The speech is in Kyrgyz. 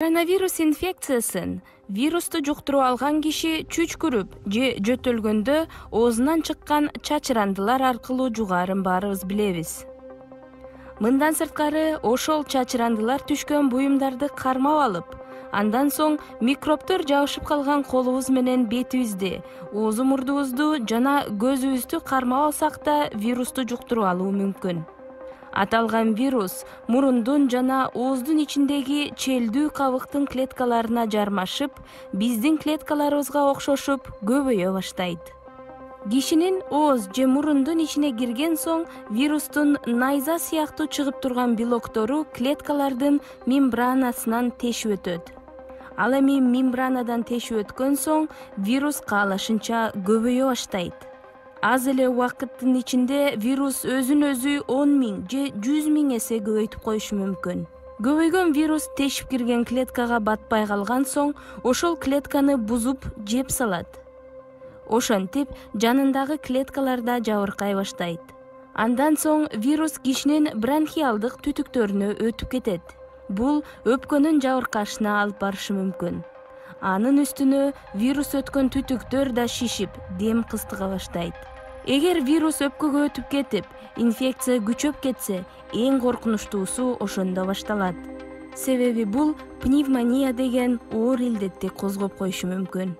Коронавирус инфекциясын вирусту жуктуруп алган киши чүчкүрүп же жөтөлгөндө оозунан чыккан чачырандылар аркылуу жугаарын баарыбыз билебиз. Мындан сырткары ошол чачырандылар түшкөн буюмдарды кармап алып, андан соң микробтор жабышып калган колубуз менен бетибизди, ооз мурдубузду жана көзүбүздү кармап алсак да вирусту жуктуруп алуу мүмкүн. Аталган вирус мурундун жана ооздун ичиндеги челдүү кабыктын клеткаларына жармашып, биздин клеткаларыбызга окшошуп көбөйө баштайт. Кишинин ооз же мурундун ичине кирген соң вирустун найза сыяктуу чыгып турган белоктору клеткалардын мембранасынан тешип өтөт. Ал эми мембранадан тешип өткөн соң вирус каалашынча көбөйө баштайт. Аз эле убакыттын ичинде вирус өзүн өзү 10 000 же 100 000 эсе көбөйтүп коюшу мүмкүн. Көбөйгөн вирус тешип кирген клеткага батпай калган соң, ошол клетканы бузуп жеп салат. Ошентип, жанындагы клеткаларда жабыркай баштайт. Андан соң вирус кишинин бронхиалдык түтүктөрүнө өтүп кетет. Бул өпкөнүн жабыркашына алып барышы мүмкүн. Анын үстүнө вирус өткөн түтүктөр да шишип, дем кыстыга баштайт. Эгер вирус өпкөгө өтүп кетип, инфекция күчөп кетсе, эң коркунучтуусу ошондо башталат. Себеби бул пневмония деген оор илдетти козгоп коюшу мүмкүн.